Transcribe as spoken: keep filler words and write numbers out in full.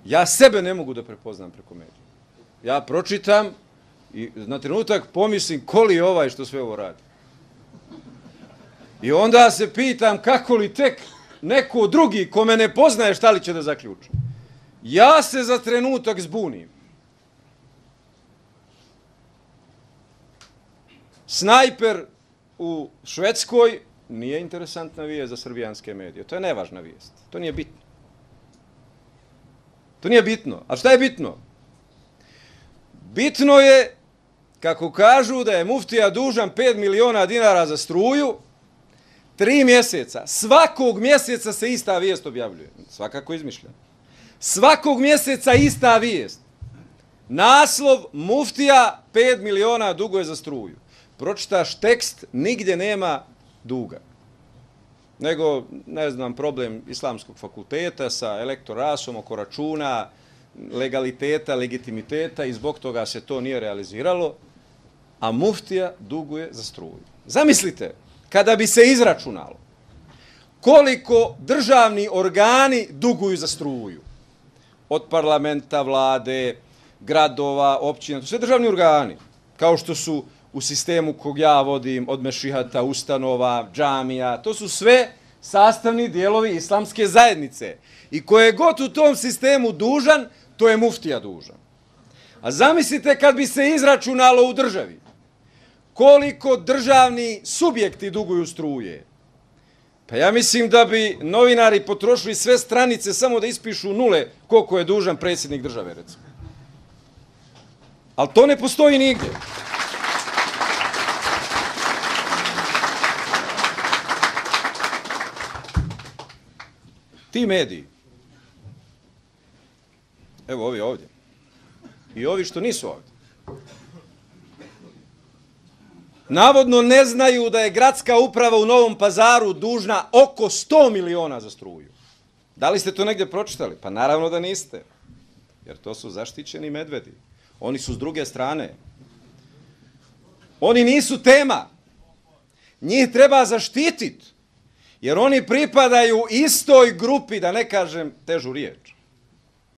Ja sebe ne mogu da prepoznam preko medija. Ja pročitam i na trenutak pomislim ko li je ovaj što sve ovo radi. I onda se pitam kako li tek neko drugi ko me ne poznaje šta li će da zaključi. Ja se za trenutak zbunim. Snajper u Švedskoj nije interesantna vijest za srbijanske medije. To je nevažna vijest. To nije bitno. To nije bitno. A šta je bitno? Bitno je, kako kažu, da je muftija dužan pet miliona dinara za struju, tri mjeseca. Svakog mjeseca se ista vijest objavljuje. Svakako izmišljena. Svakog mjeseca ista vijest. Naslov muftija pet miliona duguje za struju. Pročitaš tekst, nigdje nema duga. Nego, ne znam, problem islamskog fakulteta sa elektorasom oko računa, legaliteta, legitimiteta i zbog toga se to nije realiziralo, a muftija duguje za struju. Zamislite, kada bi se izračunalo koliko državni organi duguju za struju, od parlamenta, vlade, gradova, općina, to sve državni organi, kao što su u sistemu kog ja vodim, od mešihata, ustanova, džamija, to su sve sastavni dijelovi islamske zajednice. I ko je god u tom sistemu dužan, to je muftija dužan. A zamislite kad bi se izračunalo u državi koliko državni subjekti duguju struje. Pa ja mislim da bi novinari potrošili sve stranice samo da ispišu nule koliko je dužan predsjednik države, recimo. Ali to ne postoji nigdje. Ti mediji, evo ovi ovdje, i ovi što nisu ovdje, navodno ne znaju da je gradska uprava u Novom Pazaru dužna oko sto miliona za struju. Da li ste to negdje pročitali? Pa naravno da niste, jer to su zaštićeni medvedi. Oni su s druge strane. Oni nisu tema. Njih treba zaštititi. Jer oni pripadaju istoj grupi, da ne kažem težu riječ.